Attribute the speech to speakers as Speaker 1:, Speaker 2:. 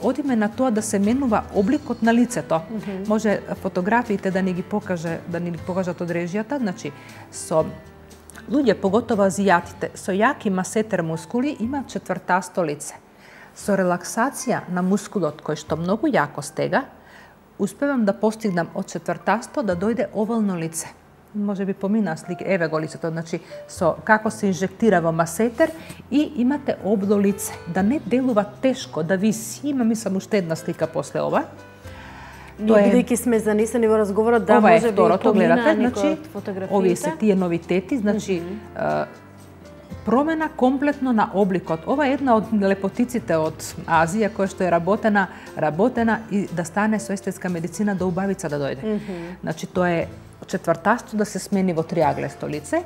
Speaker 1: Одиме на тоа да се менува обликот на лицето. Може фотографиите да ни ги покажат од режијата, значи со луѓе, поготово азијатите, со јаки масетер мускули има четвртасто лице. Со релаксација на мускулот кој што многу јако стега, успевам да постигнам од четвртасто да дојде овално лице. Може би помина слика, еве го лицето, значи со како се инжектира во масетер и имате обло лице, да не делува тешко, да виси, мислам уште една слика после ова.
Speaker 2: Бидејќи сме занесени во разговорот, да може би помина некој од фотографиите.
Speaker 1: Овие се тие новитети, значи промена комплетно на обликот. Ова е една од лепотиците од Азија која што е работена и да стане со естетска медицина до убавица да дојде. Значи тоа е четвртасто да се смени во триаглесто лице.